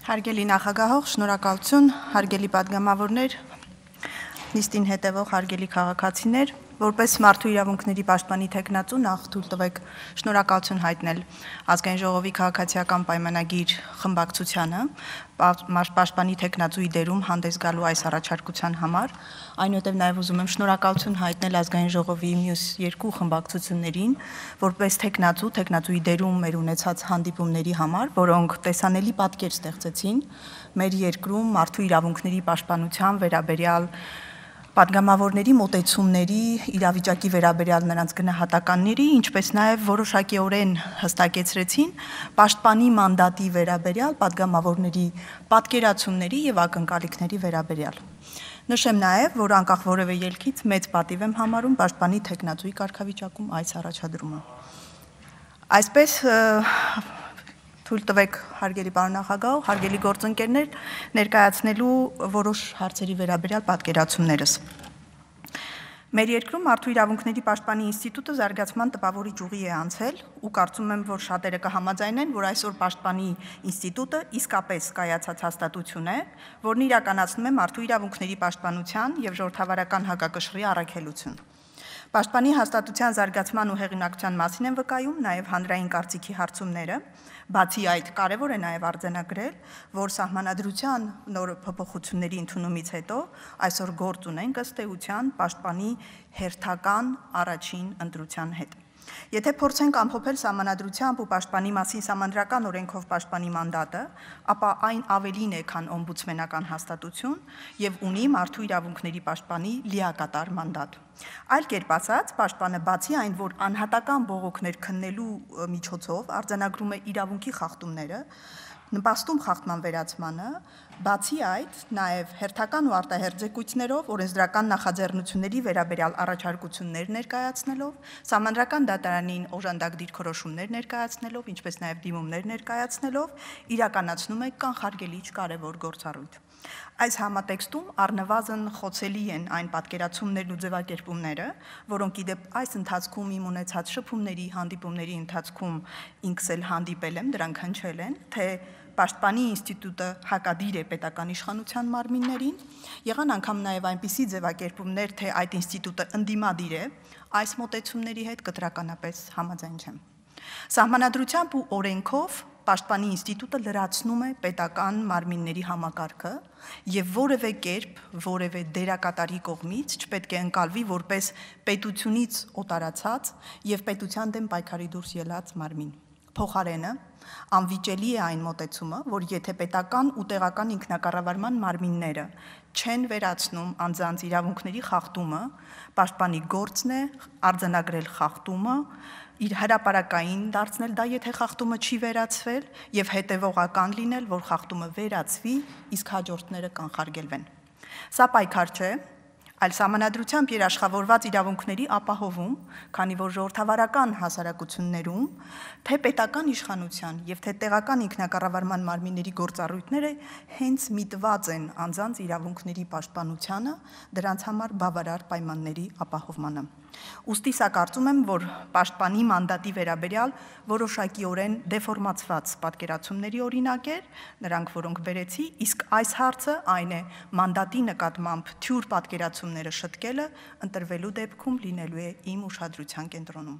Հարգելի նախագահող, շնորհակալություն, հարգելի պատգամավորներ, նիստին հետևող հարգելի քաղաքացիներ, որպես մարդու իրավունքների պաշտպանի թեկնածու նախ թույլ տվեք շնորհակալություն հայտնել Ազգային ժողովի քաղաքացիական պայմանագիր խմբակցությանը պաշտպանի թեկնածուի դերում հանդես գալու այս առաջարկության համար, այնուհետև նաև ուզում եմ շնորհակալություն հայտնել Ազգային ժողովի մյուս երկու խմբակցություններին, որպես թեկնածուի դերում մեր ունեցած հանդիպումների համար, որոնք տեսանելի պատկեր ստեղծեցին մեր երկրում մարդու իրավունքների պաշտպանության վերաբերյալ պատգամավորների մոտեցումների, իրավիճակի վերաբերյալ նրանց գնահատականների, ինչպես նաև որոշակիորեն հստակեցրեցին պաշտպանի մանդատի վերաբերյալ պատգամավորների պատկերացումների եւ ակնկալիքների վերաբերյալ։ Նշեմ նաև, որ անկախ որևէ ելքից մեծ պատիվ եմ համարում պաշտպանի թեկնածուի կարգավիճակում այս առաջադրումը։ Այսպես թույլ տվեք հարգելի պարոն նախագահ, հարգելի գործընկերներ, ներկայացնելու որոշ հարցերի վերաբերյալ պատկերացումներս։ Մեր երկրում մարդու իրավունքների պաշտպանի ինստիտուտը զարգացման տպավորիչ ուղի է անցել ու կարծում եմ, որ շատերը կհամաձայնեն, որ այսօր պաշտպանի ինստիտուտը իսկապես կայացած հաստատություն է, որն իրականացնում է մարդու իրավունքների պաշտպանության եւ ժողովրդավարական հակակշռի առաքելություն։ Պաշտպանի հաստատության զարգացման ու հեղինակության մասին են վկայում նաև հանրային կարծիքի հարցումները, բացի այդ կարևոր է նաև արձանագրել, որ սահմանադրության նոր փոփոխությունների ընդունումից հետո այսօր գործ ունենք ըստ էության պաշտպանի հերթական առաջին ընտրության հետ։ Եթե փորձենք ամփոփել սահմանադրությամբ ու պաշտպանի մասին սահմանադրական օրենքով պաշտպանի մանդատը, ապա այն ավելին է, քան օմբուդսմենական հաստատություն եւ ունի մարդու իրավունքների պաշտպանի լիակատար մանդատ։ Այլ կերպ ասած, պաշտպանը բացի այն, որ անհատական բողոքներ քննելու միջոցով արձանագրում է իրավունքի խախտումները, նպաստում խախտման վերացմանը, բացի այդ, նաև հերթական ու արտահերթ զեկույցներով, օրենսդրական նախաձեռնությունների վերաբերյալ առաջարկություններ ներկայացնելով, սահմանադրական դատարանին օժանդակ դիրքորոշումներ ներկայացնելով, ինչպես նաև դիմումներ ներկայացնելով, իրականացնում է կանխարգելիչ կարևոր գործառույթ։ Այս համատեքստում առնվազն խոցելի են այն պատկերացումներն ու ձևակերպումները, որոնք իդեպ այս ընթացքում իմ ունեցած շփումների, հանդիպումների ընթացքում ինքս էլ հանդիպել եմ, դրանք հնչել են, թե պաշտպանի ինստիտուտը հակադիր է պետական իշխանության մարմիններին, եղան անգամ նաև այնպիսի ձևակերպումներ, թե այդ ինստիտուտը ընդդիմադիր է, այս մոտեցումների հետ կտրականապես համաձայն չեմ։ Սահմանադրությամբ ու օրենքով պաշտպանի ինստիտուտը լրացնում է պետական մարմինների համակարգը եւ որևէ կերպ, որևէ դերակատարի կողմից չպետք է ընկալվի որպես պետությունից օտարացած եւ պետության դեմ պայքարի դուրս ելած մարմին։ Փոխարենը անվիճելի է այն մոտեցումը, որ եթե պետական ու տեղական ինքնակառավարման մարմինները չեն վերացնում անձանց իրավունքների խախտումը, պաշտպանի գործն է արձանագրել խախտումը, իր հրապարակային դարձնել դա, եթե խախտումը չի վերացվել, եւ հետեւողական լինել, որ խախտումը վերացվի, իսկ հաջորդները կանխարգելվեն։ Սա պայքար չէ, այլ սահմանադրությամբ երաշխավորված իրավունքների ապահովում, քանի որ ժողովրդավարական հասարակություններում թե պետական իշխանության եւ թե տեղական ինքնակառավարման մարմինների գործառույթները հենց միտված են անձանց իրավունքների պաշտպանությանը, դրանց համար բավարար պայմանների ապահովմանը։ Ուստի սա կարծում եմ, որ պաշտպանի մանդատի վերաբերյալ որոշակիորեն դեֆորմացված պատկերացումների օրինակ էր, նրանք որոնք բերեցի, իսկ այս հարցը այն է մանդատի նկատմամբ թյուր պատկերացումները շտկելը ընտրվելու դեպքում լինելու է իմ ուշադրության կենտրոնում։